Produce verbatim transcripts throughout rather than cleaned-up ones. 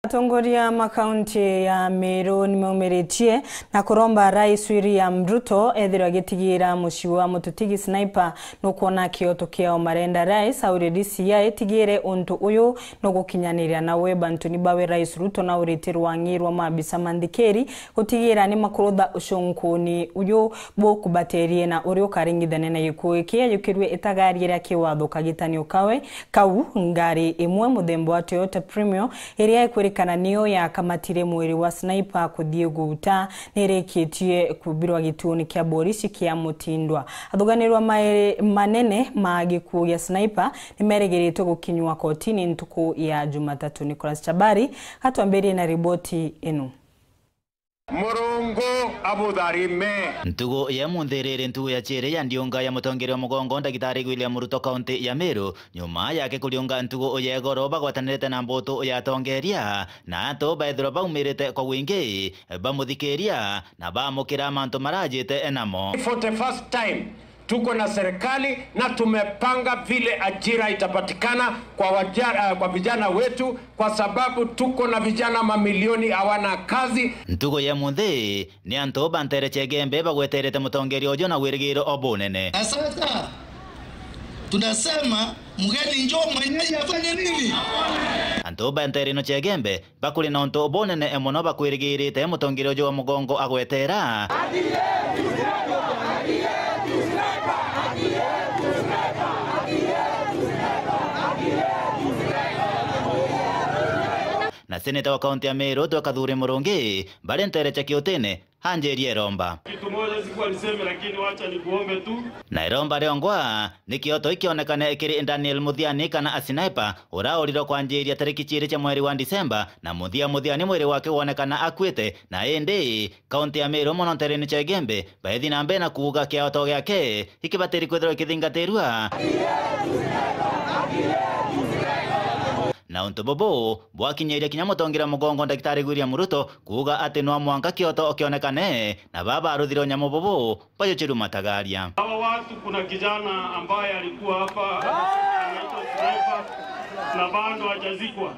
Atongoria ma kaunti ya Meru nimaumiritie na kuromba Rais William Ruto ethirwe agitigira mucii wa mututigi Sniper nukwona kioto kiao. Marenda Rais aurie D C I itigire untu uyu nugukinyaniria. Nawe bantuni bawe Rais Ruto naurite rwang'i rwa maabisa ma nthikiri gutigira nimakurutha ucunkuni uyu bukubaterie na uria ukaringithania na gikuu giki. Ayukirue itagari ria kiwatho kagitanio kawe kau, ngari imwe muthemba wa Toyota Premio iria ikwirikana niyo yakamatire mwiri wa Sniper kuthii guuta, nirikitie kumbirwa gituoni kia borisi kia Mutindwa. Athuganirwa mairi manene ma gikuu gia Sniper nimerigiriitwe gukinywa kotini ntuku ya Jumatatu. Nicholas Chabari atwambirie na riboti ino. Murungu abutharime. Ntugu ya munthi riri ntugu ya ciiri ya ndiunga ya mutongeria wa mugongo Ndagitari William Ruto kaunti ya Meru, nyuma yake kuriunga ntugu ya igoro bagwatanirite na mbutu ya atongeria na antu baethirwa baumirite kwa wingi bamuthikiria na bamukira mantu marajite namo. For the first time, tuko na serikali na tumepanga vile ajira itapatikana kwa waja-, eh, kwa vijana wetu, kwa sababu tuko na vijana mamilioni hawana kazi. Ntugu ya munthi ni antu ba ntere cia Igembe bagweterete mutongeria uju na wirigiro o bunene. Na sasa tunasema mgeni njoo, mwenyeji afanye nini? Antu ba ntere ino cia Igembe bakuri na untu bunene mono bakwirigirite mutongeria uju wa mugongo agwetera. Na seneta wa kaunti ya Meru Twe Kathuri Murungi bari ntere cia Kiutini anjirie iromba. Kitu moja sikuwa niseme, lakini wacha nikuombe tu. Na iromba riongwa ni kioto ikionekane kiri Daniel Muthiani kana Sniper, uraurirwe kwanjiria tariki ciiri cia mweri wa Disemba, na muthia Muthiani mwiri wake wonekana akuite, na indi kaunti ya Meru mono nterene cia Igembe baithi na mbere na kuuga kioto giake ikibatiri kwithirwa ikithingatirua. Na untu bubu bwakinyiria kinya mutongeria mugongo Ndagitari William Ruto kuuga ati no mwanka kioto kionekane, na baba aruthire unyamu bubu bajuchiru matagaria. Hawa watu, kuna kijana ambaye alikuwa hapa, anaitwa Sniper, na bado hajazikwa.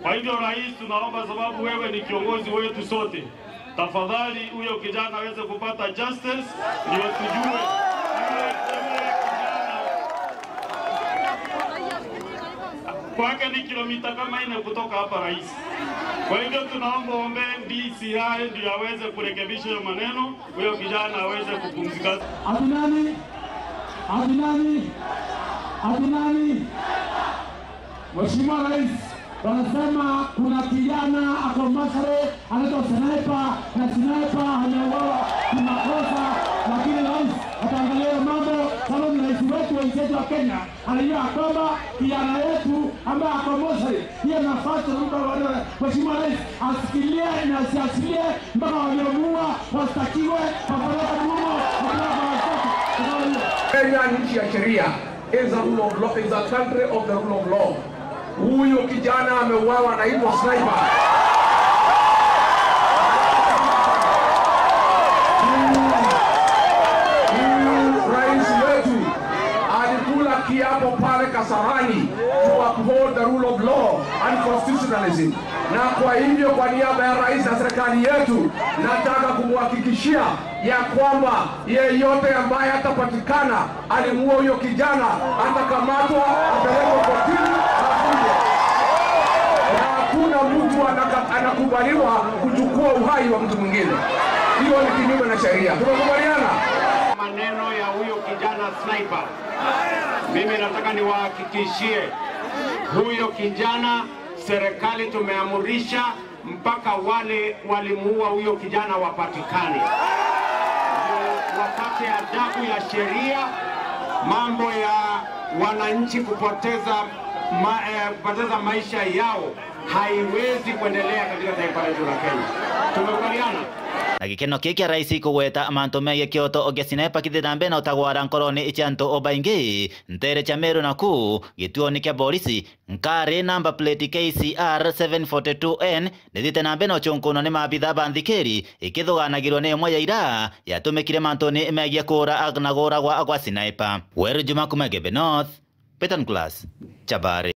Kwa hivyo, Rais, tunaomba, sababu wewe ni kiongozi wetu sote, tafadhali huyo kijana aweze kupata justice, ndio tujue yule, yule kijana kwake ni kilomita kama nne kutoka hapa, Rais. Kwa hivyo tunaomba uombee D C I ndio aweze kurekebisha hiyo maneno, huyo kijana aweze kupumzika. Ati nani? Ati nani? Ati nani? Mheshimiwa Rais, wanasema kuna kijana ako Masare, anaitwa Sniper, na Sniper ameuawa kimakosa, lakini rais ataangalia hiyo mambo, sababu ni rais wetu wa nchi yetu ya Kenya. Anajua ya kwamba kijana yetu ambaye ako Moshi, hiyo nafasi tunampa wa-, Mheshimiwa Rais asikilie na asiachilie mpaka waliomuua wastakiwe, wapeleke nyuma, wapeleke kwa wastakiwe. Kenya ni nchi ya sheria, is a rule of law, is a country of the rule of law. Huyu kijana ameuawa, anaitwa Sniper. Huyu rais wetu alikula kiapo pale Kasarani to uphold the rule of law and constitutionalism. Na kwa hivyo, kwa niaba ya rais na serikali yetu, nataka kumhakikishia ya kwamba yeyote ambaye atapatikana alimuua huyo kijana atakamatwa, apelekwe kotini, afungwe. Na hakuna mtu anaka-, anakubaliwa kuchukua uhai wa mtu mwingine. Hiyo ni kinyume na sheria. Tumekubaliana? Maneno ya huyo kijana Sniper, mimi nataka niwahakikishie, huyo kijana, serikali tumeamurisha mpaka wale walimuua huyo kijana wapatikane, ndio wapate adabu ya sheria. Mambo ya wananchi kupoteza ma-, eh, kupoteza maisha yao haiwezi kuendelea katika taifa letu la Kenya. Tumekubaliana? Na gikeno kii kia rais kugweta mantu megie kioto gia Sniper kithi na mbere na utagwara nkorone cia antu o baingi ntere cia Meru na kuu gituoni kia borisi. Nkari namba plate K C R seven forty two N nithiite na mbere na ucunkunwa ni maabitha ba nthikiri, ikithuganagirwa ni imwe ya ira yatumikire mantuni megie kuura na guuragwa gwa Sniper. Weru Juma kuma Igembe North, Peter Nicholas, Chabari.